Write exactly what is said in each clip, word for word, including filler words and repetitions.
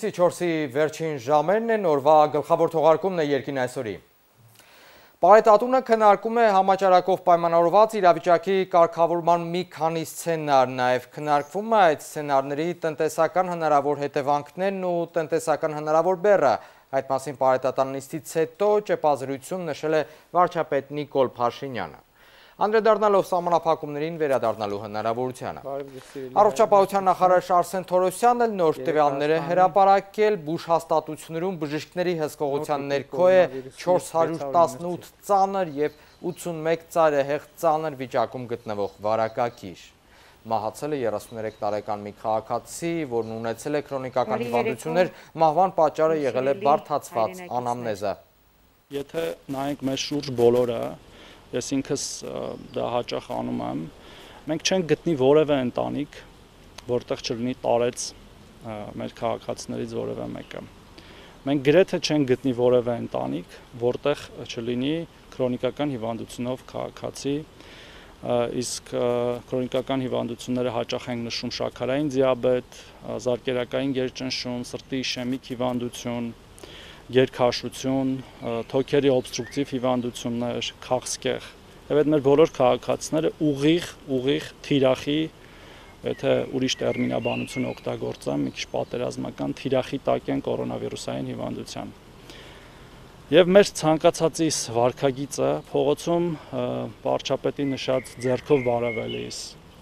Հունիսի չորսի վերջին ժամերն են, օրվա գլխավոր թողարկումն է երկին այսօրի։ Պարետատունը քննարկում է համաճարակով պայմանավորված իրավիճակի կարգավորման մի քանի սցենար, նաև քննարկվում է այդ սցենարների տնտեսական հնարավոր հետևանքներն ու տնտեսական հնարավոր բեռը։ Այդ մասին պարետատան նիստից հետո ճեպազրույցում նշել է վարչապետ Նիկոլ Փաշինյանը։ Անդրադառնալով սահմանափակումներին վերադառնալու հնարավորությանը։ Առողջապահության նախարար Արսեն Թորոսյանը նոր տվյալներ է հրապարակել, բուժհաստատություններում բժիշկների հսկողության ներքո է չորս հարյուր տասնութ ծանր և ութսունմեկ ծայրահեղ ծանր վիճակում գտնվող վարակակիր։ Մահացել է երեսուններեք տարեկան մի քաղաքացի, որն ունեցել է քրոնիկական հիվանդություններ, մահվան պատճառը եղել է բարդացված անամնեզը։ Եթե նայենք մեր շուրջ բոլորը, ես ինքս դա հաճախ անում եմ, մենք չենք գտնի որևէ ընտանիք, որտեղ չլինի տարեց մեր քաղաքացիներից որևէ մեկը։ Մենք գրեթե չենք գտնի որևէ ընտանիք, որտեղ չլինի քրոնիկական հիվանդությունով քաղաքացի, իսկ քրոնիկական հիվանդությունները հաճախ ենք նշում շաքարային դիաբետ, զարկերակային գերճնշում, սրտի իշեմիկ հիվանդություն, գերքաշություն, թոքերի օբստրուկտիվ հիվանդություններ, քաղցկեղ։ Եվ այդ մեր բոլոր քաղաքացիները ուղիղ, ուղիղ թիրախի, եթե ուրիշ տերմինաբանություն օգտագործեմ, մի քիչ պատերազմական թիրախի տակ են կորոնավիրուսային հիվանդության։ Եվ մեր ցանկացածիս վարքագիծը փողոցում վարչապետի նշած ձեռքով բարևելիս,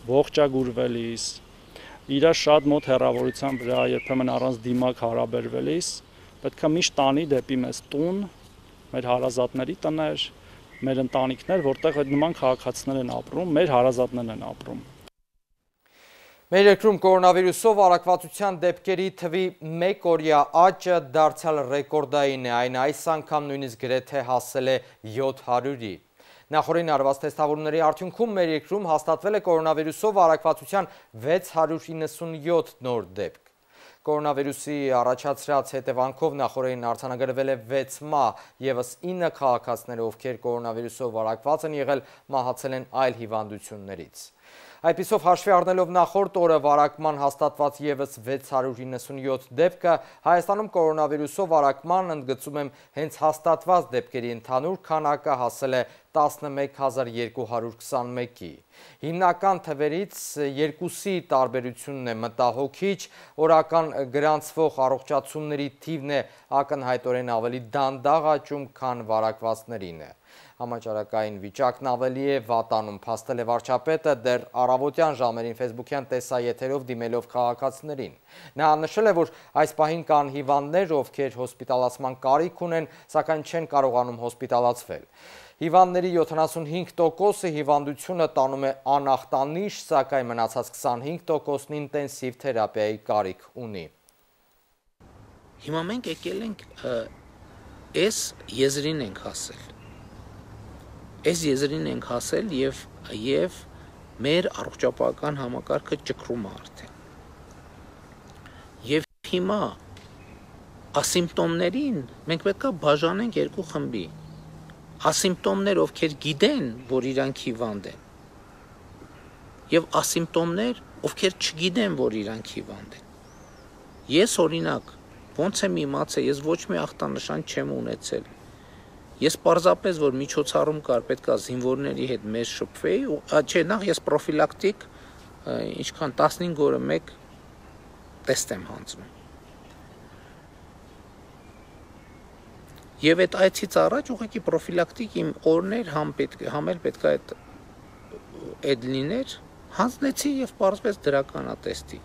ողջագուրվելիս, իր շատ մոտ հեռավորության վրա երբեմն առանց դիմակ հարաբերվելիս, պետք է միշտ տանի դեպի մեզ տուն, մեր հարազատների տներ, մեր ընտանիքներ, որտեղ այդ նման քաղաքացիներ են ապրում, մեր հարազատներն են ապրում։ Մեր երկրում կորոնավիրուսով առակվածության դեպքերի թվի մեկ օրյա աճը դարձյալ ռեկորդային է, այն այս անգամ նույնիսկ գրեթե հասել է յոթ հարյուրի։ Նախորդին արված թեստավորումների արդյունքում մեր երկրում հաստատվել է կորոնավիրուսով առակվածության վեց հարյուր իննսունյոթ նոր դեպք։ Կորոնավիրուսի առաջացրած հետևանքով նախորդին արձանագրվել է վեց մահ, ևս ինը քաղաքացիներ, ովքեր կորոնավիրուսով առակված են եղել, մահացել են այլ հիվանդություններից։ Այդպիսով հաշվի առնելով նախորդ օրը վարակման հաստատված ևս վեց հարյուր իննսունյոթ դեպքը, Հայաստանում կորոնավիրուսով վարակման ընդգծում եմ հենց հաստատված դեպքերի ընդհանուր քանակը հասել է տասնմեկ հազար երկու հարյուր քսանմեկի։ Հիմնական թվերից երկուսի տարբերությունն է մտահոգիչ, օրական գրանցվող առողջացումների թիվն է ակնհայտորեն ավելի դանդաղ աճում, քան վարակվածներին է։ Համաճարակային վիճակն ավելի է վատանում, փաստել է վարչապետը դեռ առավոտյան ժամերին ֆեյսբուքյան տեսաեթերով դիմելով քաղաքացիներին։ Նա նշել է, որ այս պահին կան հիվանդներ, ովքեր հոսպիտալացման կարիք ունեն, սակայն չեն կարողանում հոսպիտալացվել։ Հիվանդների յոթանասունհինգ տոկոսը հիվանդությունը տանում է անախտանիշ, սակայն մնացած քսանհինգ տոկոսն ինտենսիվ թերապիայի կարիք ունի։ Հիմա մենք եկել ենք այս եզրին ենք հասել։ Այս եզրին ենք հասել և, և մեր առողջապահական համակարգը ճկրում է արդեն։ Եվ հիմա ասիմպտոմներին մենք պետք է բաժանենք երկու խմբի։ Ասիմպտոմներ, ովքեր գիտեն, որ իրանք հիվանդ են, և ասիմպտոմներ, ովքեր չգիտեն, որ իրանք հիվանդ են։ Ես օրինակ, ոնց եմ իմացել, ես ոչ մի ախտանշան չեմ ունեցել։ Ես պարզապես, որ միջոցառում կար, պետք է զինվորների հետ մեզ շփվեի, չէ, նախ ես պրոֆիլակտիկ, ինչքան տասնհինգ օրը մեկ տեստ եմ հանձնում։ Եվ այդ այցից առաջ ուղղակի պրոֆիլակտիկ իմ օրներ համ էլ պետք է այդ լիներ, հանձնեցի և պարզվեց դրականատեստի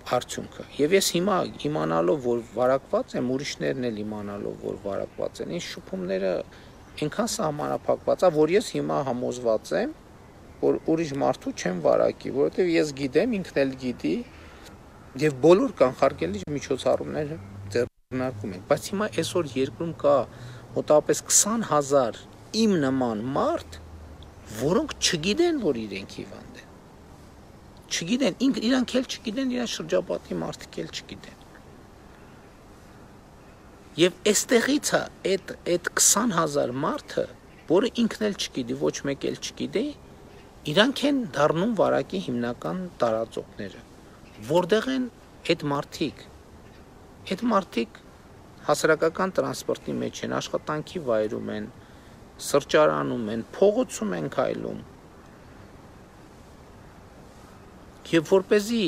արդյունքը։ Եվ ես հիմա իմանալով, որ վարակված եմ, ուրիշներն էլ իմանալով, որ վարակված են, ինձ շփումները այնքան սահմանափակված է, որ ես հիմա համոզված եմ, որ ուրիշ մարդու չեմ վարակի, որովհետև ես գիտեմ, ինքն էլ գիտի, և բոլոր կանխարգելիչ միջոցառումները ձեռնարկում ենք։ Բայց հիմա այսօր երկրում կա մոտավորապես քսան հազար իմ նման մարդ, որոնք չգիտեն, որ իրենք հիվանդ են։ Չգիտեն, իրանք էլ չգիտեն, իրան շրջապատի մարդիկ էլ չգիտեն։ Եվ այստեղից է այդ քսան հազար մարդը, որը ինքն էլ չգիտի, ոչ մեկ էլ չգիտի, իրանք են դառնում վարակի հիմնական տարածողները, որտեղ են այդ մարդիկ, այդ մարդիկ հասարակական տրանսպորտի մեջ են, աշխատանքի վայրում են, սրճարանում են, փողոցում են քայլում։ Եվ որպեսզի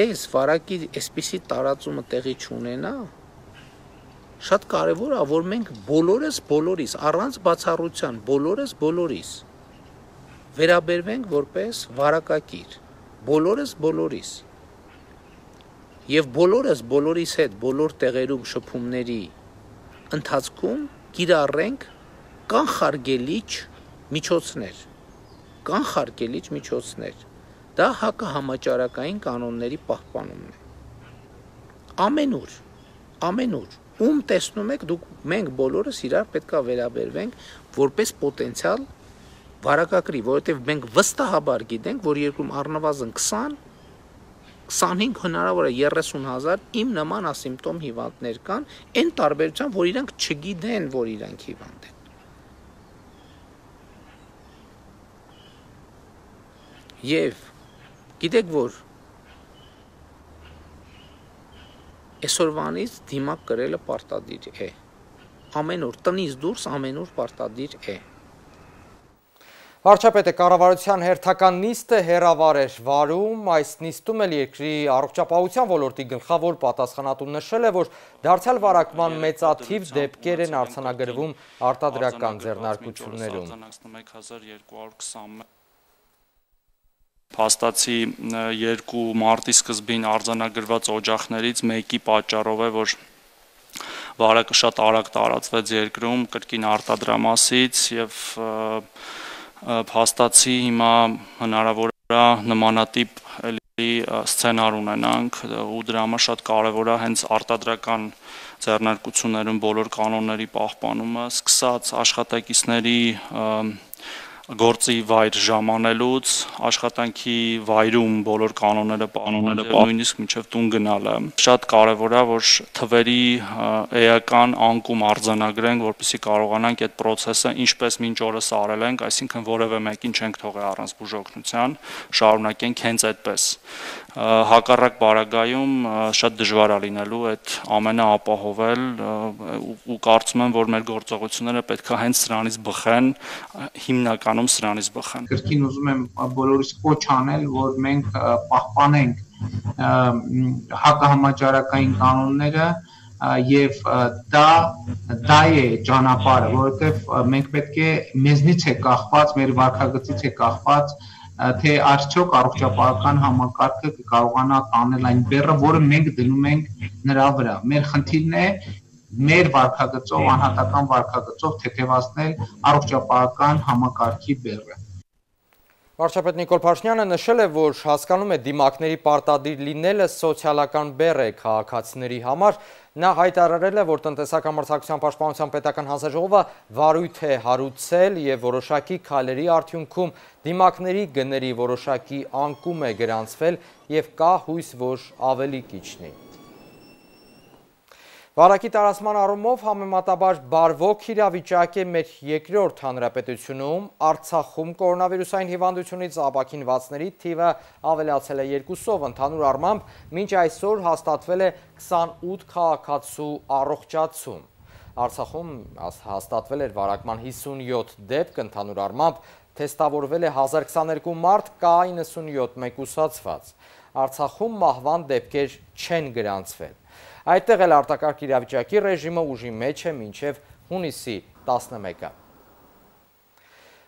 այս վարակի այսպիսի տարածումը տեղի չունենա, շատ կարևոր է, որ մենք բոլորս բոլորիս, առանց բացառության, բոլորս բոլորիս վերաբերվենք որպես վարակակիր, բոլորս բոլորիս։ Եվ բոլորս բոլորիս հետ բոլոր տեղերում շփումների ընթացքում կիրառենք կանխարգելիչ միջոցներ, կանխարգելիչ միջոցներ։ Դա հակահամաճարակային կանոնների պահպանումն է։ Ամենուր, ամենուր, ում տեսնում եք, դուք մենք բոլորս իրար պետք է վերաբերվենք որպես պոտենցիալ վարակակրի, որովհետև մենք վստահաբար գիտենք, որ երկրում առնվազն քսան քսանհինգ հնարավոր է երեսուն հազար իմ նման ասիմպտոմ հիվանդներ կան, այն տարբերությամբ, որ իրանք չգիտեն, որ իրանք հիվանդ են։ Եվ գիտեք, որ այսօրվանից դիմակ կրելը պարտադիր է։ Ամեն օր տնից դուրս ամեն օր պարտադիր է։ Վարչապետը կառավարության հերթական նիստը հեռավար էր վարում, այս նիստում էլ երկրի առողջապահության ոլորտի գլխավոր պատասխանատուն նշել է, որ դարձյալ վարակման մեծաթիվ դեպքեր են արձանագրվում արտադրական ձեռնարկություններում։ Փաստացի երկու մարտի սկզբին արձանագրված օջախներից մեկի պատճառով է, որ վարակը շատ արագ տարածվեց երկրում կրկին արտադրամասից եւ փաստացի հիմա հնարավոր է նմանատիպ էլի սցենար ունենանք ու դրա համար շատ կարևոր է հենց արտադրական ձեռնարկություններում բոլոր կանոնների պահպանումը, սկսած աշխատակիցների գործի վայր ժամանելուց, աշխատանքի վայրում բոլոր կանոնները պահպանելը, նույնիսկ մինչև տուն գնալը։ Շատ կարևոր է, որ թվերի էական անկում արձանագրենք, որպեսզի կարողանանք այդ process-ը ինչպես մինչ օրս արել ենք, այսինքն որևէ մեկին չենք թողել առանց բուժօգնության, շարունակենք հենց այդպես։ Հակառակ պարագայում շատ դժվար է լինելու այդ ամենը ապահովել ու կարծում եմ, որ մեր գործողությունները պետք է հենց սրանից բխեն, հիմնականում սրանից բխեն։ Կրկին ուզում եմ բոլորիս կոչ անել, որ մենք պահպանենք հակահամաճարակային կանոնները եւ դա դա է ճանապարհը, որովհետեւ մենք պետք է մեզնից է կախված, մեր վարքագծից է կախված թե արդյոք առողջապահական համակարգը կարողանա տանել այն բեռը, որը մենք դնում ենք նրա վրա։ Մեր խնդիրն է մեր վարքագծով, անհատական վարքագծով թեթևացնել առողջապահական համակարգի բեռը։ Վարչապետ Նիկոլ Փաշինյանը նշել է, որ հասկանում է դիմակների պարտադիր լինելը սոցիալական բեռ է քաղաքացիների համար։ Նա հայտարարել է, որ տնտեսական մրցակցության պաշտպանության պետական հանձնաժողովը վարույթ է հարուցել եւ որոշակի քայլերի արդյունքում դիմակների գների որոշակի անկում է գրանցվել եւ կա հույս, որ ավելի կիչնի։ Վարակի տարածման առումով համեմատաբար բարվոք իրավիճակ է մեր երկրորդ հանրապետությունում, Արցախում կորոնավիրուսային հիվանդությունից ապաքինվածների թիվը ավելացել է երկուսով, ընդհանուր առմամբ մինչ այսօր հաստատվել է քսանութ քաղաքացու առողջացում։ Արցախում հաստատվել էր վարակման հիսունյոթ դեպք, ընդհանուր առմամբ թեստավորվել է հազար քսաներկու մարդ, կա իննսունյոթ մեկուսացված։ Արցախում մահվան դեպքեր չեն գրանցվել։ Այդտեղ էլ արտակարգ իրավիճակի ռեժիմը ուժի մեջ է մինչև հունիսի տասնմեկը։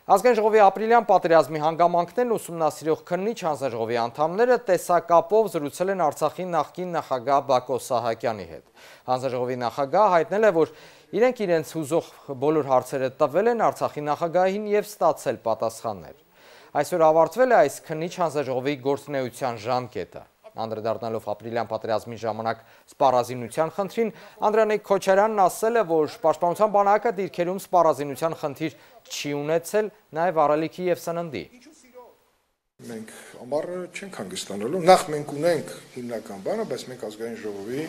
Ազգային ժողովի ապրիլյան պատերազմի հանգամանքներն ուսումնասիրող քննիչ հանձնաժողովի անդամները տեսակապով զրուցել են Արցախի նախկին նախագահ Բակո Սահակյանի հետ։ Հանձնաժողովի նախագահը հայտնել է, որ իրենք իրենց հուզող բոլոր հարցերը տվել են Արցախի նախագահին եւ ստացել պատասխաններ։ Այսօր ավարտվել է այս քննիչ հանձնաժողովի գործունեության ժամկետը։ Անդրադառնալով ապրիլյան պատերազմի ժամանակ սպառազինության խնդրին, Անդրանիկ Քոչարյանն ասել է, որ Պաշտպանության բանակը դիրքերում սպառազինության խնդիր չի ունեցել, նաև առելիքի եւ սննդի։ Մենք ամառը չենք հանգստանալու, նախ մենք ունենք հիմնական բանը, բայց մենք ազգային ժողովի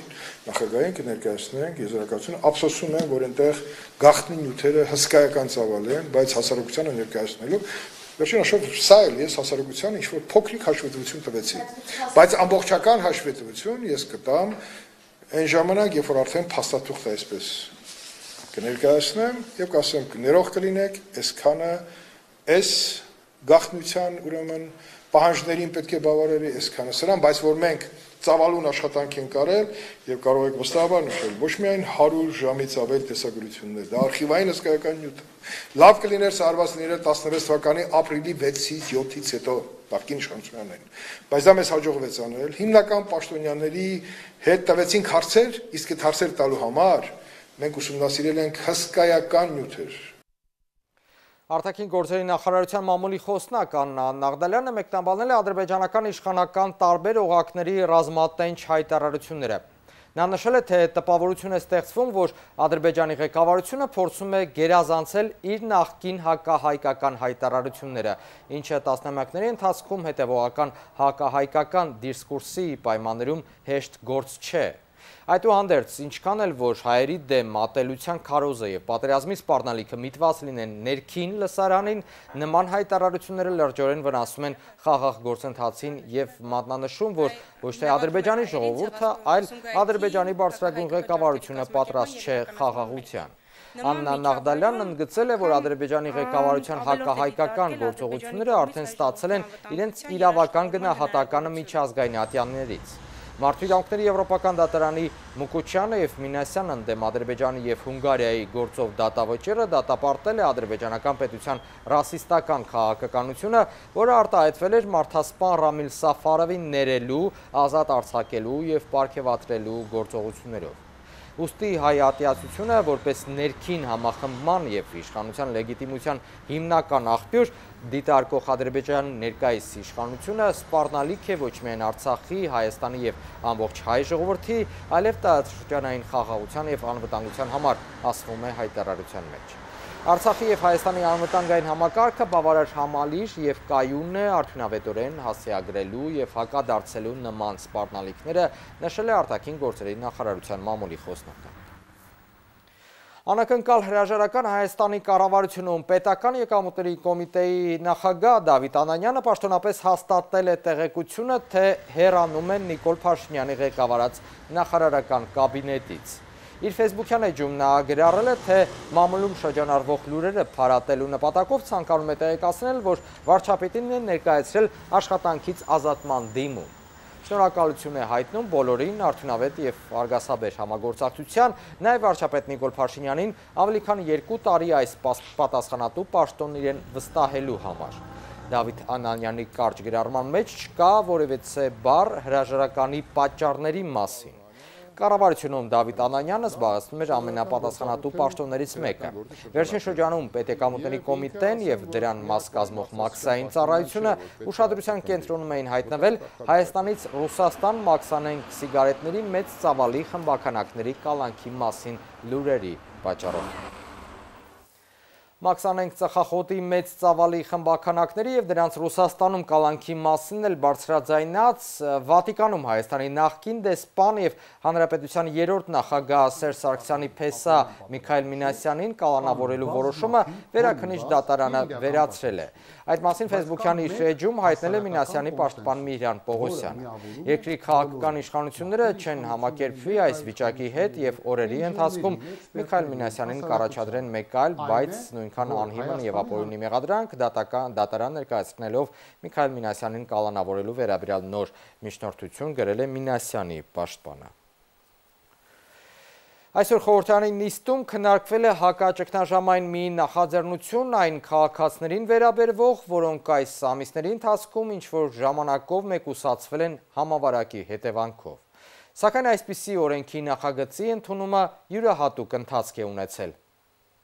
նախագահին կներկայացնենք եզրակացությունը, ափսոսում եմ, որ այնտեղ գաղտնի նյութերը հսկայական ծավալ են, բայց հասարակությանը ներկայացնելու Վերջին հաշվով սա էլ ես հասարակության ինչ-որ փոքրիկ հաշվետվություն տվեցի, բայց ամբողջական հաշվետվություն ես կտամ այն ժամանակ, երբ որ արդեն փաստաթուղթը այսպես կներկայացնեմ եւ կասեմ ներող կլինեք, այսքանը այս գաղտնության ուրեմն պահանջներին պետք է բավարարի այսքանը սրան, բայց որ մենք ծավալուն աշխատանք են կարել եւ կարող եք վստահաբար նշել ոչ միայն հարյուր ժամից ավել տեսագրություններ, դա արխիվային հսկայական նյութ է։ Լավ կլիներ սա արված լիներ տասնվեց թվականի ապրիլի վեցից յոթից հետո նախկին իշխանություններին, բայց դա մեզ հաջողվեց անել։ Հիմնական պաշտոնյաների հետ տվեցինք հարցեր, իսկ այդ հարցեր տալու համար մենք ուսումնասիրել ենք հսկայական նյութեր։ Արտաքին գործերի նախարարության մամուլի խոսնակ Աննա Նաղդալյանը մեկնաբանել է ադրբեջանական իշխանական տարբեր օղակների ռազմատենչ հայտարարությունները։ Նա նշել է, թե տպավորություն է ստեղծվում, որ Ադրբեջանի ղեկավարությունը փորձում է գերազանցել իր նախկին հակահայկական հայտարարությունները, ինչը տասնամյակների ընթացքում հետևողական հակահայկական դիսկուրսի պայմաններում հեշտ գործ չէ։ Այդուհանդերձ, ինչքան էլ որ հայերի դեմ ատելության քարոզը եւ պատերազմի սպառնալիքը միտված լինեն ներքին լսարանին, նման հայտարարությունները լրջորեն վնասում են խաղաղ գործընթացին եւ մատնանշում, որ ոչ թե Ադրբեջանի ժողովուրդը, այլ Ադրբեջանի բարձրագույն ղեկավարությունը պատրաստ չէ խաղաղության։ Աննա Նաղդալյանն ընդգծել է, որ Ադրբեջանի ղեկավարության հակահայկական գործողությունները արդեն ստացել են իրենց իրավական գնահատականը միջազգային ատյաններից։ Մարդու իրավունքների Եվրոպական դատարանի Մուկուչյանը եւ Մինասյանն ընդդեմ Ադրբեջանի եւ Հունգարիայի գործով դատավճիռը դատապարտել է ադրբեջանական պետության ռասիստական քաղաքականությունը, որը արտահայտվել էր մարդասպան Ռամիլ Սաֆարովին ներելու, ազատ արձակելու եւ պարգևատրելու գործողություններով։ Ուստի հայ ատյացությունը որպես ներքին համախմբման եւ իշխանության լեգիտիմության հիմնական աղբյուր դիտարկող Ադրբեջանի ներկայիս իշխանությունը սպառնալիք է ոչ միայն Արցախի, Հայաստանի եւ ամբողջ հայ ժողովրդի, այլև տարածաշրջանային խաղաղության եւ անվտանգության համար, ասվում է հայտարարության մեջ։ Արցախի եւ Հայաստանի անվտանգային համակարգը բավարար համալիր եւ կայուն է արդյունավետորեն հասցեագրելու եւ հակադարձելու նման սպառնալիքները, նշել է արտաքին գործերի նախարարության մամուլի խոսնակը։ Անակնկալ հրաժարական Հայաստանի կառավարությունում պետական եկամուտների կոմիտեի նախագահ Դավիթ Անանյանը պաշտոնապես հաստատել է տեղեկությունը, թե հեռանում են Նիկոլ Փաշինյանի ղեկավարած նախարարական կաբինետից։ Իր ֆեյսբուքյան էջում նա գրառել է, թե մամուլում շրջանառվող լուրերը փարատելու նպատակով ցանկանում է տեղեկացնել, որ վարչապետին է ներկայացրել աշխատանքից ազատման դիմում։ Շնորհակալություն է հայտնում բոլորին արդյունավետ եւ արգասաբեր համագործակցության, նաեւ վարչապետ Նիկոլ Փաշինյանին ավելի քան երկու տարի այս պատասխանատու պաշտոնն իրեն վստահելու համար։ Դավիթ Անանյանի կարճ գրառման մեջ չկա որևէ բառ հրաժարականի պատճառների մասին։ Կառավարությունում Դավիթ Անանյանը զբաղեցնում էր ամենապատասխանատու պաշտոններից մեկը։ Վերջին շրջանում պետեկամուտների կոմիտեն եւ դրան մաս կազմող մաքսային ծառայությունը ուշադրության կենտրոնում էին հայտնվել Հայաստանից Ռուսաստան մաքսանենգ սիգարետների մեծ ծավալի խմբականակների կալանքի մասին լուրերի պատճառով։ Մաքսանենգ ծխախոտի մեծ ծավալի խմբականակների եւ դրանց Ռուսաստանում կալանքի մասին էլ բարձրաձայնած Վատիկանում Հայաստանի նախկին դեսպան եւ Հանրապետության երրորդ նախագահ Սերժ Սարգսյանի փեսա Միքայել Մինասյանին կալանավորելու որոշումը վերաքննիչ դատարանը վերացրել է։ Այդ մասին ֆեյսբուքյան իր էջում հայտնել է Մինասյանի պաշտպան Միհրան Պողոսյանը։ Երկրի քաղաքական իշխանությունները չեն համակերպվի այս վիճակի հետ եւ օրերի ընթացքում Միքայել Մինասյանին կառաջադրեն մեկ այլ, բայց նույնքան անհիմն եւ ապօրինի մեղադրանք դատարան ներկայացնելով Միքայել Մինասյանին կալանավորելու վերաբերյալ նոր միջնորդություն գրել է Մինասյանի պաշտպանը։ Այսօր խորհրդարանի նիստում քննարկվել է հակաճգնաժամային մի նախաձեռնություն այն քաղաքացիներին վերաբերվող, որոնք այս ամիսների ընթացքում ինչ-որ ժամանակով մեկուսացվել են համավարակի հետևանքով։ Սակայն այսպիսի օրենքի նախագծի ընդունումը յուրահատուկ ընթացք է ունեցել։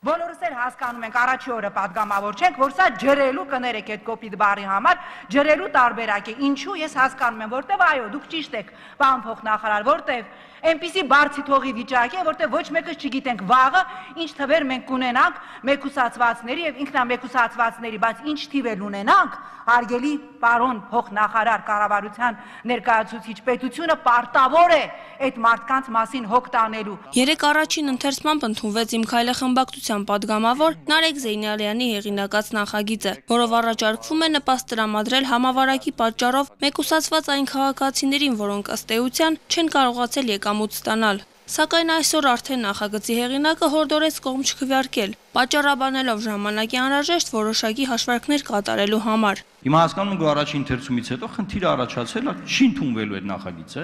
Բոլորս էլ հասկանում ենք, առաջի օրը պատգամավոր չենք, որ սա ջրելու կներեք այդ կոպիտ բառի համար, ջրելու տարբերակ է։ Ինչու ես հասկանում եմ, որտեվ այո, դուք ճիշտ եք, պարոն փոխնախարար, որտեվ Այնպիսի բարձի թողի վիճակ է, որտեղ ոչ մեկը չգիտենք վաղը ինչ թվեր մենք կունենանք մեկուսացվածների եւ ինքնամեկուսացվածների, բայց ինչ թիվեր ունենանք, հարգելի պարոն փոխնախարար կառավարության ներկայացուցիչ պետությունը պարտավոր է այդ մարդկանց մասին հոգ տանելու։ Երեք առաջին ընթերցմամբ ընդունվեց Իմ քայլը խմբակցության падգամավոր Նարեկ Զեյնալյանի հեղինակած նախագիծը, որով առաջարկվում է նպաստ տրամադրել համավարակի պատճառով մեկուսացված այն քաղաքացիներին, որոնք ըստ էության չեն կարողացել եկամուտ ստանալ։ Սակայն այսօր արդեն նախագծի հեղինակը հորդորեց կողմ չքվեարկել, պատճառաբանելով ժամանակի անհրաժեշտ որոշակի հաշվարկներ կատարելու համար։ Հիմա հասկանում ենք, որ առաջին ընթերցումից հետո խնդիրը առաջացել է, չի ընդունվելու այդ նախագիծը,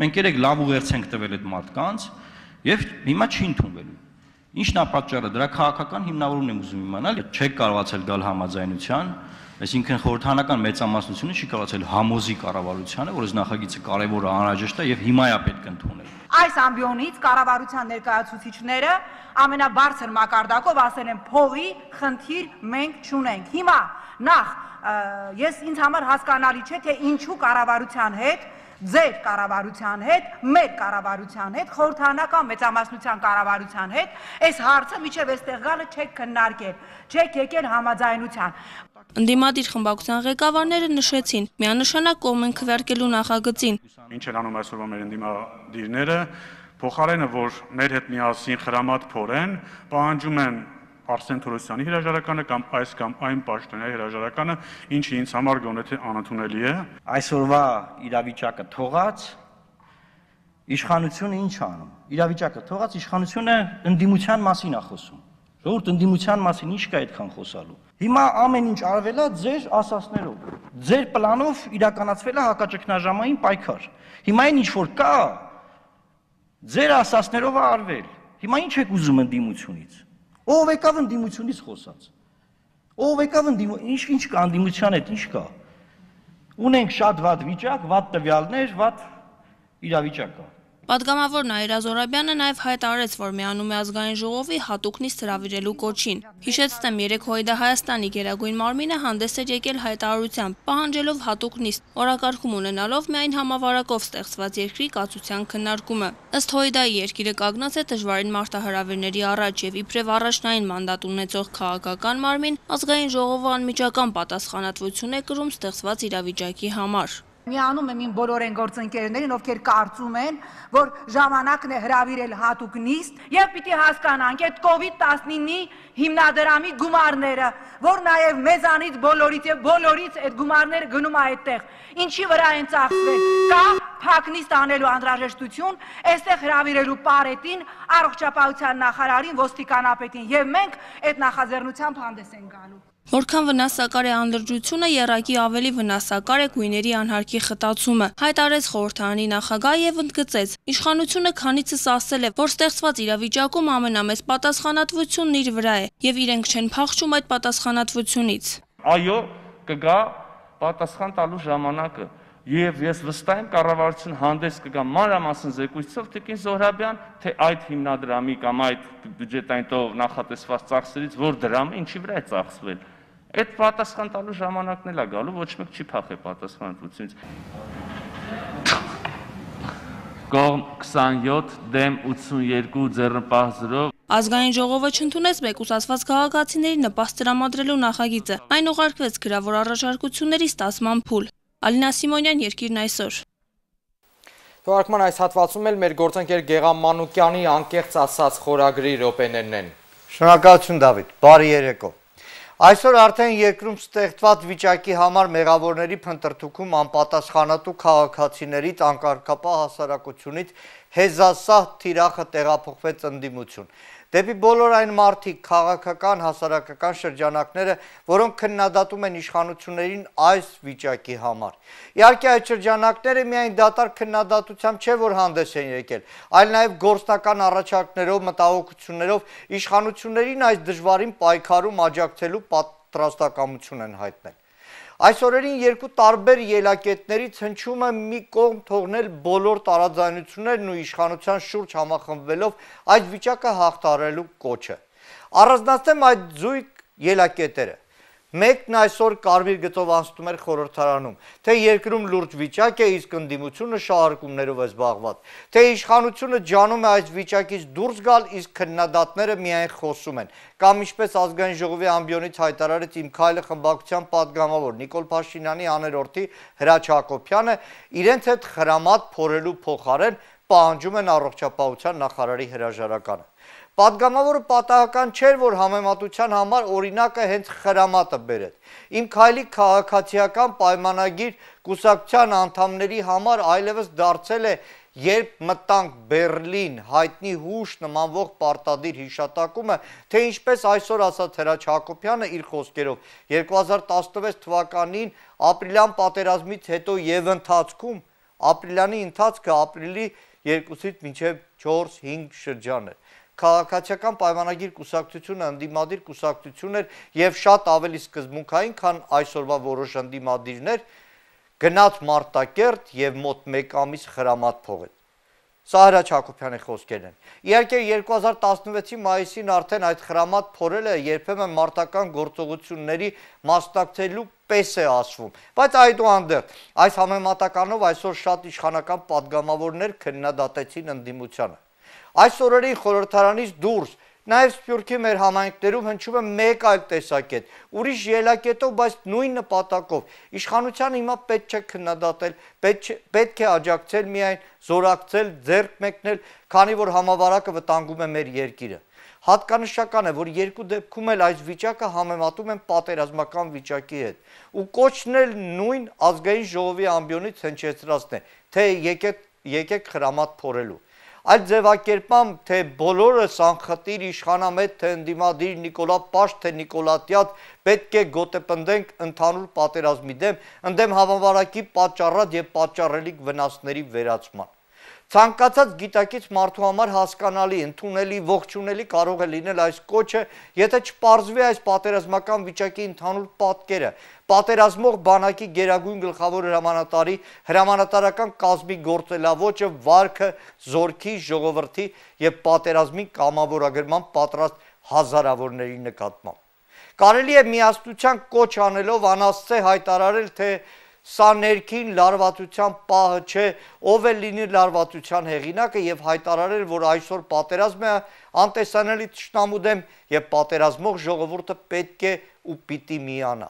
մենք երեք լավ ուղերձ ենք տվել այդ մարդկանց եւ հիմա չի ընդունվելու։ Ինչն է պատճառը, դրա քաղաքական հիմնավորումն եմ ուզում իմանալ, չեք կարողացել գալ համաձայնության, այսինքն խորհրդանական մեծամասնությունը չի կարողացել համոզի կառավարությանը, որ այս նախագիծը կարևոր է, անհրաժեշտ է եւ հիմա է պետք ընդունել։ Այս ամբիոնից կառավարության ներկայացուցիչները ամենաբարձր մակարդակով ասել են փողի խնդիր մենք չունենք։ Հիմա նախ ես ինձ համար հասկանալի չէ, թե ինչու կառավարության հետ, ձեր կառավարության հետ, մեր կառավարության հետ, խորհրդանական մեծամասնության կառավարության հետ այս հարցը միջև այստեղ գալը չեք քննարկել, չեք եկել համաձայնության։ Ընդդիմադիր խմբակցության ղեկավարները նշեցին, միանշանակ կողմ են քվեարկելու նախագծին։ Ինչ են անում այսօրվա մեր ընդդիմադիրները, փոխարենը որ մեր հետ միասին խրամատ փորեն, պահանջում են Արսեն Թորոսյանի հրաժարականը կամ այս կամ այն պաշտոնյայի հրաժարականը, ինչը ինձ համար գոնե թե անընդունելի է։ Այսօրվա իրավիճակը թողած իշխանությունը ինչ անում։ Իրավիճակը թողած իշխանությունը ընդդիմության մասին է խոսում։ Ժողովուրդ ընդդիմության մասին ինչ կա այդքան խոսալու։ Հիմա ամեն ինչ արվել է ձեր ասասներով։ Ձեր պլանով իրականացվել է հակաճգնաժամային պայքար։ Հիմա այն ինչ որ կա, ձեր ասասներով է արվել։ Հիմա ինչ եք ուզում ընդդիմությունից։ Ով եկավ ընդդիմությունից խոսած։ Ով եկավ ընդդիմություն, ինչ ինչ կա ընդդիմության հետ, ինչ կա։ Ունենք շատ վատ վիճակ, վատ տվյալներ, վատ իրավիճակ կա։ Պատգամավոր Նաիրա Զոհրաբյանը նաև հայտարարեց, որ միանում է ազգային ժողովի հատուկ նիստ հրավիրելու կոչին։ Հիշեցնեմ, երեկ Հույդա Հայաստանի գերագույն մարմինը հանդես էր եկել հայտարարությամբ, պահանջելով հատուկ նիստ, օրակարգում ունենալով միայն համավարակով ստեղծված երկրի կացության քննարկումը։ Ըստ Հույդայի երկիրը կանգնած է դժվարին մարտահրավերների առաջ եւ իբրև առաջնային մանդատ ունեցող քաղաքական մարմին ազգային ժողովը անմիջական պատասխանատվություն է կրում ստեղծված իրավիճակի համար։ Միանում եմ իմ բոլոր են գործընկերներին, ովքեր կարծում են, որ ժամանակն է հրավիրել հատուկ նիստ եւ պիտի հասկանանք այդ կովիդ տասնինի հիմնադրամի գումարները, որ նաեւ մեզանից բոլորից եւ բոլորից այդ գումարները գնում է այդտեղ։ Ինչի վրա են ծախսվել։ Կա փակ նիստ անելու անհրաժեշտություն, այստեղ հրավիրելու պարետին, առողջապահության նախարարին, ոստիկանապետին եւ մենք այդ նախաձեռնությամբ հանդես ենք գալու։ Որքան վնասակար է անլրջությունը, եռակի ավելի վնասակար է գույների անհարկի խտացումը, հայտարարեց խորհրդարանի նախագահը եւ ընդգծեց. իշխանությունը քանիցս ասել է, որ ստեղծված իրավիճակում ամենամեծ պատասխանատվությունն իր վրա է եւ իրենք չեն փախչում այդ պատասխանատվությունից։ Այո, կգա պատասխան տալու ժամանակը եւ ես վստահ եմ կառավարությունը հանդես կգա մանրամասն զեկույցով Տիկին Զոհրաբյան, թե այդ հիմնադրամի կամ այդ բյուջետային տող նախատեսված ծախսերից որ դրամը ինչի վրա է ծախսվել։ Այդ պատասխան տալու ժամանակն էլ է գալու, ոչ մեկ չի փախել պատասխանատվությունից։ Կողմ քսանյոթ դեմ ութսունյերկու ձեռնպահ զրո։ Ազգային ժողովը չընդունեց մեկուսացված քաղաքացիների նպաստ տրամադրելու նախագիծը։ Այն ուղարկվեց գրավոր առաջարկությունների ստացման փուլ։ Ալինա Սիմոնյան, Երկիրն այսօր։ Թողարկման այս հատվածում էլ մեր գործընկեր Գեղամ Մանուկյանի անկեղծ ասած խորագրի րոպեներն են։ Շնորհակալություն Դավիթ, բարի երեկո։ Այսօր արդեն երկրում ստեղծված վիճակի համար մեղավորների փնտրտուքում անպատասխանատու քաղաքացիներից անկարգապահ հասարակությունից հեզասահ թիրախը տեղափոխվեց ընդդիմություն։ Դեպի բոլոր այն մարդիկ, քաղաքական, հասարակական շրջանակները, որոնք քննադատում են իշխանություններին այս վիճակի համար։ Իհարկե այդ շրջանակները միայն դատարկ քննադատությամբ չէ, որ հանդես են եկել, այլ նաև գործնական առաջարկներով, մտահոգություններով իշխանություններին այս դժվարին պայքարում աջակցելու պատրաստակամություն են հայտնել։ Այս օրերին երկու տարբեր ելակետներից հնչում է մի կողմ թողնել բոլոր տարաձայնություններն ու իշխանության շուրջ համախմբվելով այդ վիճակը հաղթահարելու կոչը։ Առանձնացնեմ այդ զույգ ելակետերը։ Մեկն այսօր կարմիր գծով անցնում էր խորհրդարանում, թե երկրում լուրջ վիճակ է, իսկ ընդդիմությունը շահարկումներով է զբաղված, թե իշխանությունը ջանում է այս վիճակից դուրս գալ, իսկ քննադատները միայն խոսում են, կամ ինչպես ազգային ժողովի ամբիոնից հայտարարեց Իմ քայլը խմբակցության պատգամավոր Նիկոլ Փաշինյանի աներորդի Հրաչ Հակոբյանը, իրենց հետ խրամատ փորելու փոխարեն պահանջում են առողջապահության նախարարի հրաժարականը։ Պատգամավորը պատահական չէր, որ համեմատության համար օրինակը հենց խրամատը բերեց։ Իմ քայլի քաղաքացիական պայմանագիր կուսակցության անդամների համար այլևս դարձել է, երբ մտանք Բեռլին, հայտնի հուշ նմանվող պարտադիր հիշատակումը, թե ինչպես այսօր ասաց Հրաչ Հակոբյանը իր խոսքերով, երկու հազար տասնվեց թվականին ապրիլյան պատերազմից հետո եւ ընթացքում, ապրիլյանի ընթացքը ապրիլի երկուսից մինչև չորս հինգ շրջան էր։ Քաղաքացիական պայմանագիր կուսակցությունը ընդդիմադիր կուսակցություն էր եւ շատ ավելի սկզբունքային, քան այսօրվա որոշ ընդդիմադիրներ, գնաց Մարտակերտ եւ մոտ մեկ ամիս խրամատ փողեց։ Սա Հրաչ Հակոբյանի խոսքերն են։ Իհարկե երկու հազար տասնվեցի մայիսին արդեն այդ խրամատ փորելը երբեմն մարտական գործողությունների մասնակցելու պես է ասվում, բայց այդուհանդերձ այս համեմատականով այսօր շատ իշխանական պատգամավորներ քննադատեցին ընդդիմությանը։ Այս օրերին խորհրդարանից դուրս, նաև Սփյուռքի մեր համայնքներում հնչում է մեկ այլ տեսակետ, ուրիշ ելակետով, բայց նույն նպատակով։ Իշխանությանը հիմա պետք չէ քննադատել, պետք է աջակցել միայն, զորակցել, ձեռք մեկնել, քանի որ համավարակը վտանգում է մեր երկիրը։ Հատկանշական է, որ երկու դեպքում էլ այս վիճակը համեմատում են պատերազմական վիճակի հետ, ու կոչն էլ նույն ազգային ժողովի ամբիոնից հնչեցրածն է, թե եկեք խրամատ փորելու։ Այդ ձևակերպամ, թե բոլորս անխտիր իշխանամետ, թե ընդդիմադիր, Նիկոլա Պաշտ, թե Նիկոլատյատ պետք է գոտեպնդենք ընդհանուր պատերազմի դեմ, ընդդեմ համավարակի պատճառած եւ պատճառելիք վնասների վերացման։ Ցանկացած գիտակից մարդու համար հասկանալի, ընդունելի, ողջունելի կարող է լինել այս կոչը, եթե չպարզվի այս պատերազմական վիճակի ընդհանուր պատկերը, պատերազմող բանակի գերագույն գլխավոր հրամանատարի հրամանատարական կազմի գործելավոճը, վարքը, զորքի, ժողովրդի եւ պատերազմի կամավորագրման պատրաստ հազարավորների նկատմամբ։ Կարելի է միասնության կոչ անելով անասցե հայտարարել, թե սա ներքին լարվածության պահը չէ, ով է լինի լարվածության հեղինակը եւ հայտարարել, որ այսօր պատերազմ է անտեսանելի թշնամու դեմ եւ պատերազմող ժողովուրդը պետք է ու պիտի միանա։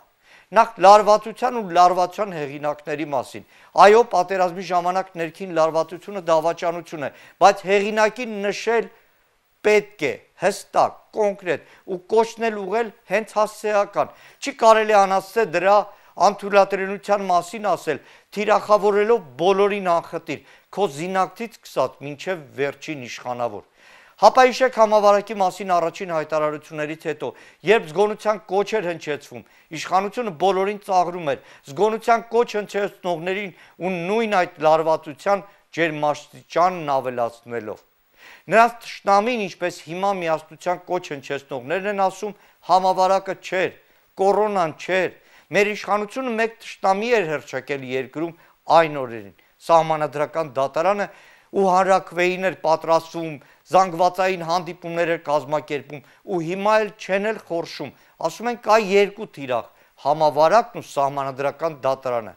Նախ լարվածության ու լարվածության հեղինակների մասին։ Այո, պատերազմի ժամանակ ներքին լարվածությունը դավաճանություն է, բայց հեղինակին նշել պետք է, հստակ, կոնկրետ ու կոչնել ուղղել հենց հասցեական։ Չի կարելի անասցե դրա անթույլատրելիության մասին ասել, թիրախավորելով բոլորին անխտիր, քո զինակցից սկսած մինչև վերջին իշխանավոր։ Հապայիշեք համավարակի մասին առաջին հայտարարություններից հետո, երբ զգոնության կոչ էր հնչեցվում, իշխանությունը բոլորին ծաղրում էր, զգոնության կոչ հնչեցնողներին ու նույն այդ լարվածության ջերմաստիճանն ավելացնելով։ Նրանց թշնամին, ինչպես հիմա միասնության կոչ հնչեցնողներն են ասում, համավարակը չէր, կորոնան չէր։ Մեր իշխանությունը մեկ թշնամի էր հռչակել երկրում այն օրերին, սահմանադրական դատարանը ու հանրաքվեին էր պատրաստվում, զանգվածային հանդիպումներ էր կազմակերպում ու հիմա էլ չեն էլ խորշում, ասում են կա երկու թիրախ, համավարակն ու սահմանադրական դատարանը։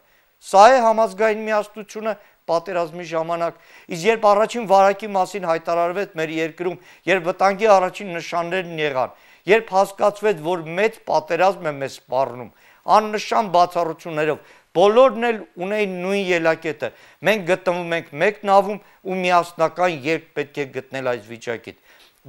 Սա է համազգային միասնությունը պատերազմի ժամանակ, իսկ երբ առաջին վարակի մասին հայտարարվեց մեր երկրում, երբ վտանգի առաջին նշաններն եղան, երբ հասկացվեց, որ մեծ պատերազմ է մեզ սպառնում, աննշան բացառություններով, բոլորն էլ ունեին նույն ելակետը, մենք գտնվում ենք մեկ նավում ու միասնական երկ պետք է գտնել այս վիճակից։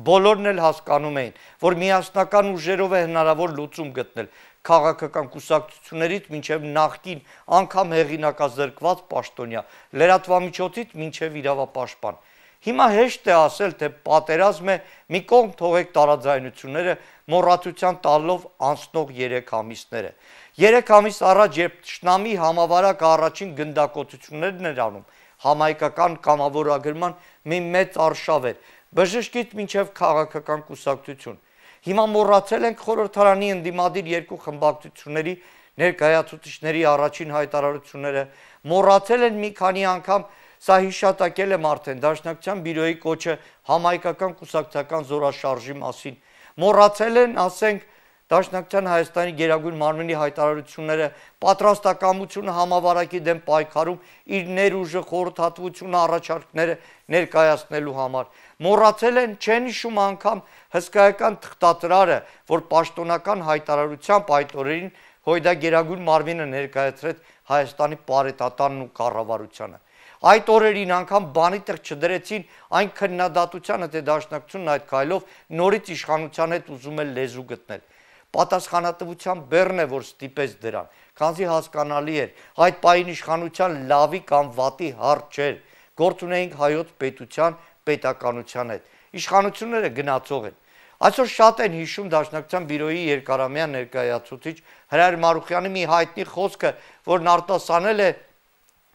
Բոլորն էլ հասկանում էին, որ միասնական ուժերով է հնարավոր լուծում գտնել, քաղաքական կուսակցություններից մինչև նախկին անգամ հեղինակազրկված պաշտոնյա, լրատվամիջոցից մինչև իրավապաշտպան։ Հիմա հեշտ է ասել, թե պատերազմ է, մի կողմ թողեք տարաձայնությունները, մոռացության տալով անցնող երեք ամիսները։ Երեք ամիս առաջ, երբ թշնամի համավարակը առաջին գնդակոծություններն էր անում, համայնքական կամավորագրման մի մեծ արշավ էր, բժշկից մինչև քաղաքական կուսակցություն։ Հիմա մոռացել ենք խորհրդարանի ընդդիմադիր երկու խմբակցությունների ներկայացուցիչների առաջին հայտարարությունները, մոռացել են մի քանի անգամ, սա հիշատակել եմ արդեն Դաշնակցության բյուրոյի կոչը համայնքական կուսակցական զորաշարժի մասին, մոռացել են, ասենք, Դաշնակցության Հայաստանի Գերագույն մարմնի հայտարարությունները, պատրաստակամությունը համավարակի դեմ պայքարում իր ներուժը, խորհրդատվությունը, առաջարկները ներկայացնելու համար։ Մոռացել են, չեն հիշում անգամ հսկայական թղթադրարը, որ պաշտոնական հայտարարությամբ այդ օրերին Հույդա Գերագույն մարմինը ներկայացրեց Հայաստանի պարետարանն ու կառավարությանը։ Այդ օրերին անգամ բանի տեղ չդրեցին այն քննադատությանը, թե Դաշնակցությունն այդ քայլով նորից իշխանության հետ ուզում է լեզու գտնել։ Պատասխանատվության բեռն է, որ ստիպեց դրան, քանզի հասկանալի էր, այդ պահին իշխանության լավի կամ վատի հարց չէր, գործ ունեինք հայոց պետության, պետականության հետ։ Իշխանությունները գնացող են։ Այսօր շատ են հիշում Դաշնակցության բյուրոյի երկարամյա ներկայացուցիչ Հրայր Մարուխյանի մի հայտնի խոսքը, որն արտասանել է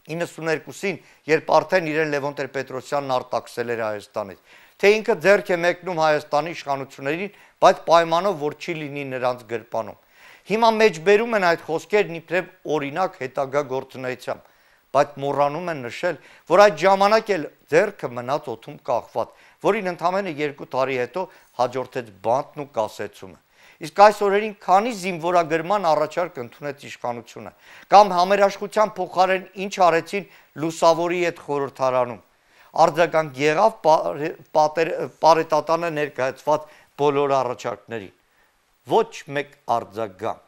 իննսուններկուսին, երբ արդեն իրեն Լևոն Տեր-Պետրոսյանն արտաքսել էր Հայաստանից, թե ինքը ձեռք է մեկնում Հայաստանի իշխանություններին, բայց պայմանով, որ չի լինի նրանց գրպանում։ Հիմա մեջբերում են այդ խոսքերն իբրև օրինակ հետագա գործունեությամբ, բայց մոռանում են նշել, որ այդ ժամանակ էլ ձեռքը մնաց օդում կախված, որին ընդամենը երկու տարի հետո հաջորդեց բանտն ու կասեցումը։ Իսկ այս օրերին քանի զինվորագրման առաջարկ ընդունեց իշխանությունը, կամ համերաշխության փոխարեն ինչ արեցին Լուսավորի հետ խորհրդարանում։ Արձագանք եղավ պարետատանը ներկայացված բոլոր առաջարկներին։ Ոչ մեկ արձագանք։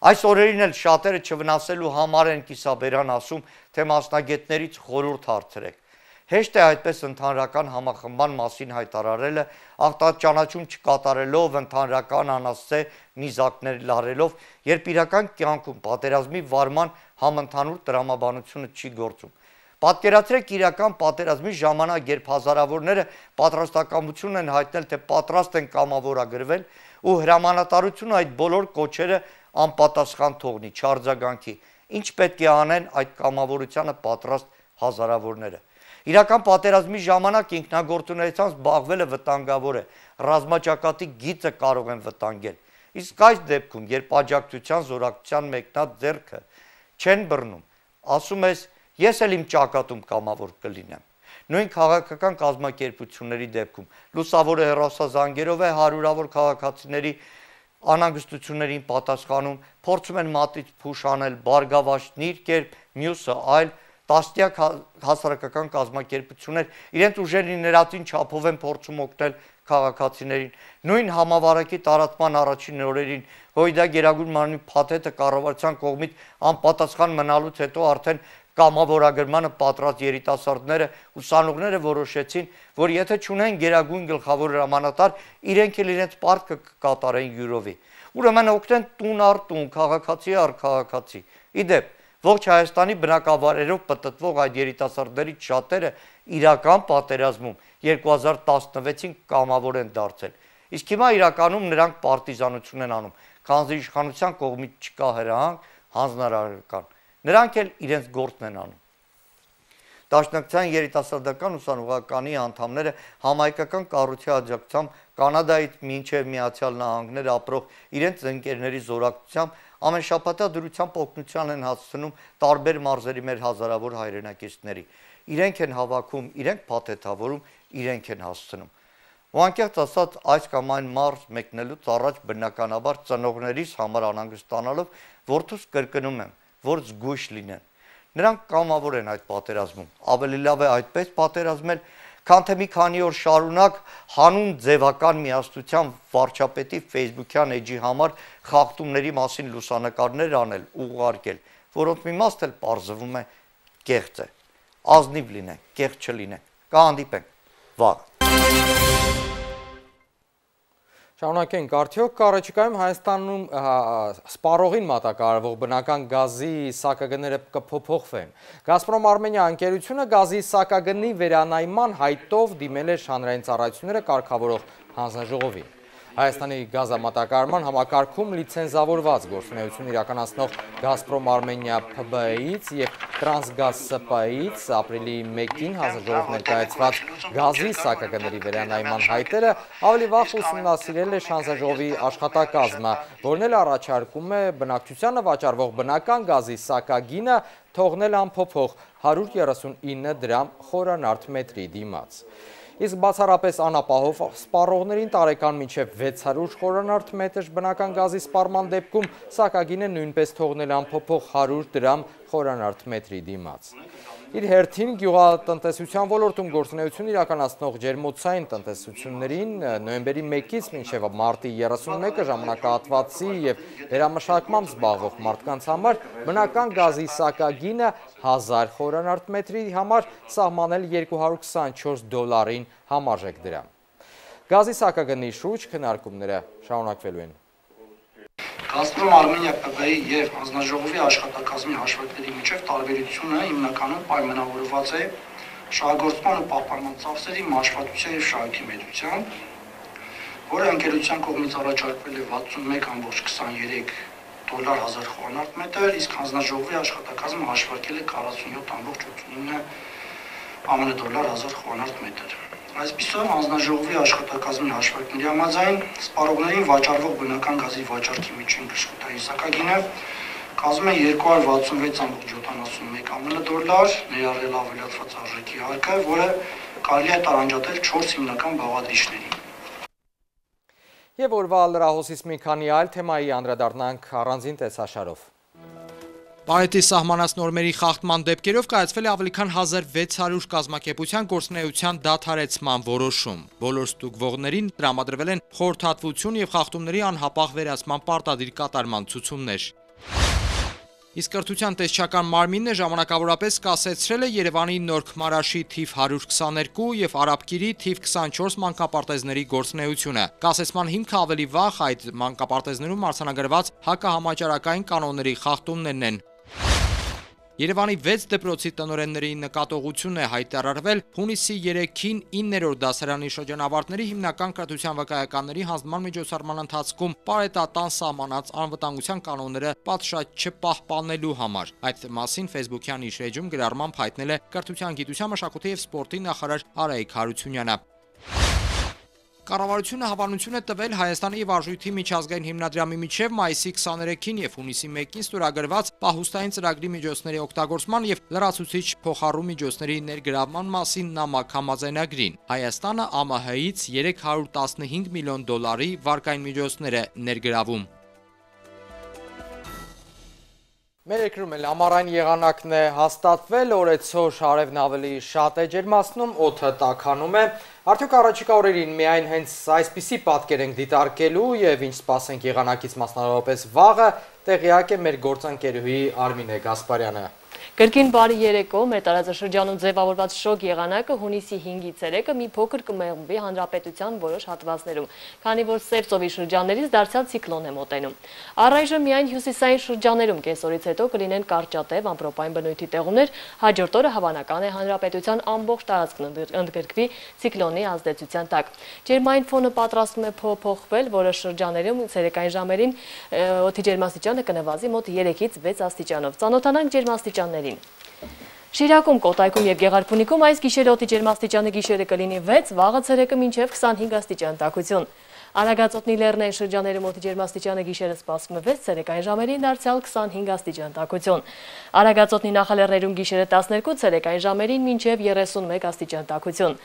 Այս օրերին էլ շատերը չվնասելու համար են կիսաբերան ասում, թե մասնագետներից խորհուրդ հարցրեք։ Հեշտ է այդպես ընդհանրական համախմբան մասին հայտարարելը, ախտաճանաչում չկատարելով, ընդհանրական անասցե նիզակներ լարելով, երբ իրական կյանքում պատերազմի վարման համընդհանուր տրամաբանությունը չի գործում։ Պատկերացրեք իրական պատերազմի ժամանակ, երբ հազարավորները պատրաստակամություն են հայտնել, թե պատրաստ են կամավորագրվել, ու հրամանատարությունը այդ բոլոր կոչերը անպատասխան թողնի, չարձագանքի, ինչ պետք է անեն այդ կամավորությանը պատրաստ հազարավորները։ Իրական պատերազմի ժամանակ ինքնագործունեությամբ զբաղվելը վտանգավոր է, ռազմաճակատի գիծը կարող են վտանգել։ Իսկ այս դեպքում, երբ աջակցության զորակցության մեկնած ձեռքը չեն բռնում, ասում ես, ես էլ իմ ճակատում կամավոր կլինեմ։ Նույն քաղաքական կազմակերպությունների դեպքում Լուսավորը հեռախոսազանգերով է հարյուրավոր քաղաքացիների անհանգստություններին պատասխանում, փորձում են մատից փուշ անել, բարգավաճ կերպ, մյուսը այլ տասնյակ հասարակական կազմակերպություններ իրենց ուժերի ներածին չափով են փորձում օգնել քաղաքացիներին։ Նույն համավարակի տարածման առաջին օրերին Հույդա Գերագույն մարմնի փաթեթը կառավարության կողմից անպատասխան մնալուց հետո արդեն կամավորագրմանը պատրաստ երիտասարդները, ուսանողները որոշեցին, որ եթե չունեն գերագույն գլխավոր հրամանատար, իրենք էլ իրենց պարտքը կկատարեն յուրովի։ Ուրեմն օգնեն տուն առ տուն, քաղաքացի առ քաղաքացի։ Իդեպ ողջ Հայաստանի բնակավայրերով պտտվող այդ երիտասարդներից շատերը իրական պատերազմում երկու հազար տասնվեցին կամավոր են դարձել։ Իսկ հիմա իրականում նրանք պարտիզանություն են անում, քանզի իշխանության կողմից չկա հրահանգ, հանձնարարական։ Նրանք էլ իրենց գործն են անում։ Դաշնակցության երիտասարդական ուսանողականի անդամները համայնքական կառույցի աջակցությամբ Կանադայից մինչև Միացյալ Նահանգներ ապրող իրենց ընկերների զորակցությամբ ամենշաբաթյա դրությամբ օգնության են հասցնում տարբեր մարզերի մեր հազարավոր հայրենակիցների։ Իրենք են հավաքում, իրենք փաթեթավորում, իրենք են հասցնում։ Ու անկեղծ ասած, այս կամ այն մարզ մեկնելուց առաջ բնականաբար ծնողներիս համար անհանգստանալով որդուս կրկնում եմ, որ զգույշ լինեն։ Նրանք կամավոր են այդ պատերազմում, ավելի լավ է այդպես պատերազմել, քան թե մի քանի օր շարունակ հանուն ձևական միասնության վարչապետի ֆեյսբուքյան էջի համար խախտումների մասին լուսանկարներ անել, ուղարկել, որոնց մի մասն էլ պարզվում է կեղծ է։ Ազնիվ լինենք, կեղծ չլինենք։ Կհանդիպենք վաղ։ Շարունակենք, արդյոք առաջիկայում Հայաստանում սպառողին մատակարարվող բնական գազի սակագները կփոփոխվեն։ Գազպրոմ Արմենիա ընկերությունը գազի սակագնի վերանայման հայտով դիմել էր հանրային ծառայությունները կարգավորող հանձնաժողովին։ Հայաստանի գազամատակարարման համակարգում լիցենզավորված գործունեություն իրականացնող Գազպրոմ Արմենիա Փ B E-ից և Տրանսգազ S P E-ից ապրիլի մեկին հանձնաժողով ներկայացված գազի սակագների վերանայման հայտերը ավելի վաղ ուսումնասիրել է հանձնաժողովի աշխատակազմը, որն էլ առաջարկում է բնակչությանը վաճառվող բնական գազի սակագինը թողնել անփոփոխ հարյուր երեսունինը դրամ խորանարդ մետրի դիմաց։ Իսկ բացառապես անապահով սպառողներին տարեկան մինչև վեց հարյուր խորանարդ մետր բնական գազի սպառման դեպքում սակագինը նույնպես թողնել անփոփոխ հարյուր դրամ խորանարդ մետրի դիմաց։ Իր հերթին գյուղատնտեսության ոլորտում գործունեություն իրականացնող ջերմոցային տնտեսություններին նոյեմբերի մեկից մինչև մարտի երեսունմեկը ժամանակահատվածի և վերամշակմամբ զբաղվող մարդկանց համար բնական գազի սակագինը հազար խորանարդ մետրի համար սահմանել երկու հարյուր քսանչորս դոլարին համարժեք դրամ։ Գազի սակագնի շուրջ քննարկումները շարունակվելու են։ Գազպրոմ Արմենիա Պ Բ-ի և հանձնաժողովի աշխատակազմի հաշվարկների միջև տարբերությունը հիմնականում պայմանավորված է շահագործման ու պահպանման ծախսերի մաշվածության և շահույթի մեծությամբ, որը ընկերության կողմից առաջարկվել է վաթսունմեկ կόμma քսաներեք դոլար հազար խորանարդ մետր, իսկ հանձնաժողովի աշխատակազմը հաշվարկել է քառասունյոթ կόμma ութսունինը ԱՄՆ դոլար հազար խորանարդ մետր։ Այսպիսով հանձնաժողովի աշխատակազմի հաշվարկների համաձայն սպառողներին վաճառվող բնական գազի վաճառքի միջին գժխուտային սակագինը կազմում է երկու հարյուր վաթսունվեց կόμma յոթանասունմեկ ԱՄՆ դոլար, ներառյալ ավելացված արժեքի հարկը, որը կարելի է տարանջատել չորս հիմնական բաղադրիչների։ Եվ օրվա լրահոսից մի քանի այլ թեմայի անդրադառնանք առանձին տեսաշարով։ Պարետի սահմանած նորմերի խախտման դեպքերով կայացվել է ավելի քան հազար վեց հարյուր կազմակերպության գործունեության դադարեցման որոշում։ Բոլոր ստուգվողներին տրամադրվել են խորհրդատվություն և խախտումների անհապաղ վերացման պարտադիր կատարման ցուցումներ։ Իսկ կրթության տեսչական մարմինն ժամանակավորապես կասեցրել է Երևանի Նորքմարաշի թիվ հարյուր քսաներկու և Արաբկիրի թիվ քսանչորս մանկապարտեզների գործունեությունը։ Կասեցման հիմքը ավելի վաղ այդ մանկապարտեզներում արձանագրված հակահամաճարակային կանոնների խախտումներն են։ Երևանի վեց դպրոցի տնօրենների նկատողություն է հայտարարվել հունիսի երեքին իններորդ դասարանի շրջանավարտների հիմնական կրթության վկայականների հանձնման միջոցառման ընթացքում պարետատան սահմանած անվտանգության կանոնները պատշաճ չպահպանելու համար։ Այդ մասին Facebook-յան իր էջում գրառմամբ հայտնել է կրթության, գիտության, մշակույթի և սպորտի նախարար Արայիկ Հարությունյանը։ Կառավարությունը հավանություն է տվել Հայաստանի և Արժույթի միջազգային հիմնադրամի միջև մայիսի քսաներեքին և հունիսի մեկին ստորագրված պահուստային ծրագրի միջոցների օգտագործման և լրացուցիչ փոխառու միջոցների ներգրավման մասին նամակ համաձայնագրին։ Հայաստանը Ա Մ Հ-ից երեք հարյուր տասնհինգ միլիոն դոլարի վարկային միջոցներ է ներգրավում։ Մեր երկրում էլ ամառային եղանակն է հաստատվել, օրեցօր արևն ավելի շատ է ջերմացնում, օդը տաքանում է։ Արդյոք առաջիկա օրերին միայն հենց այսպիսի պատկեր ենք դիտարկելու և ինչ սպասենք եղանակից մասնավորապես վաղը, տեղյակ է մեր գործընկերուհի Արմինե Գասպարյանը։ Կրկին բարի երեկո, մեր տարածաշրջանում ձևավորված շոգ եղանակը հունիսի հինգի ցերեկը մի փոքր կմեղմվի հանրապետության որոշ հատվածներում, քանի որ Սև ծովի շրջաններից դարձյալ ցիկլոն է մոտենում։ Առայժմ միայն հյուսիսային շրջաներում կեսօրից հետո կլինեն կարճատև ամպրոպային բնույթի տեղումներ, հաջորդ օրը հավանական է հանրապետության ամբողջ տարածքն ընդգրկվի ցիկլոնի ազդեցության տակ։ Ջերմային ֆոնը պատրաստվում է փոփոխվել, որոշ շրջաներում ցերեկային ժամերին օդի ջերմաստիճանը կնվազի մոտ երեքից վեց աստիճանով։ Ծանոթանանք ջերմաստիճաններին։ Շիրակում, Կոտայքում և Գեղարքունիքում այս գիշերը օդի ջերմաստիճանը գիշերը կլինի վեց, վաղը ցերեկը մինչև քսանհինգ աստիճան տաքություն։ Արագածոտնի լեռնային շրջաներում օդի ջերմաստիճանը գիշերը սպասվում է վեց, ցերեկային ժամերին դարձյալ քսանհինգ աստիճան տաքություն։ Արագածոտնի նախալեռներում գիշերը տասներկու, ցերեկային ժամերին մինչև երեսունմեկ աստիճան տաքություն։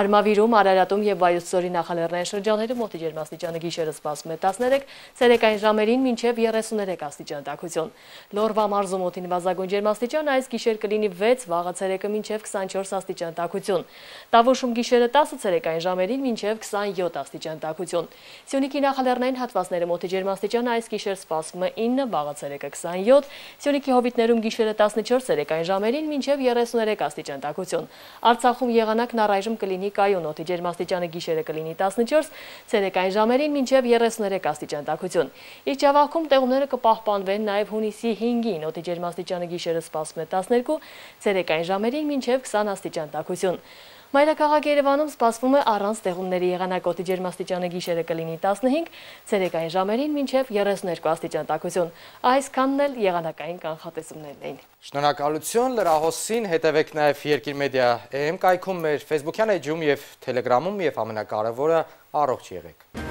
Արմավիրում, Արարատում և Վայոց ձորի նախալեռնային շրջաներում օդի ջերմաստիճանը գիշերը սպասվում է տասներեք, ցերեկային ժամերին մինչև երեսուներեք աստիճան տաքություն։ Լորվա մարզում օդի նվազագույն ջերմաստիճանը այս գիշեր կլինի վեց, վաղը ցերեկը մինչև քսանչորս աստիճան տաքություն։ Տավուշում գիշերը տասը, ցերեկային ժամերին մինչև քսանյոթ աստիճան տաքություն։ Սյունիքի նախալեռնային հատվածներում օդի ջերմաստիճանը այս գիշեր սպասվում է ինը, վաղը ցերեկը քսանյոթ, Սյունիքի հովիտներում գիշերը տասնչորս, ցերեկային ժամերին մինչև երեսուներեք աստիճան տաքություն։ Արցախում եղանակն առայժմ կլինի կայուն, օդի ջերմաստիճանը գիշերը կլինի տասնչորս, ցերեկային ժամերին մինչև երեսուներեք աստիճան տաքություն։ Իջևաքում տեղումները կպահպանվեն նաև հունիսի հինգին, օդի ջերմաստիճանը գիշերը սպասվում է տասներկու, ցերեկային ժամերին մինչև քսան աստիճան տաքություն։ Մայրաքաղաք Երևանում սպասվում է առանց տեղումների եղանակ, օդի ջերմաստիճանը գիշերը կլինի տասնհինգ, ցերեկային ժամերին մինչև երեսուներկու աստիճան տաքություն։ Այսքանն էլ եղանակային կանխատեսումներն էին։ Շնորհակալություն, լրահոսին հետևեք նաև Երկիր մեդիա Է Էմ կայքում, մեր Facebook-յան էջում և Telegram-ում, և ամենակարևորը առողջ եղեք։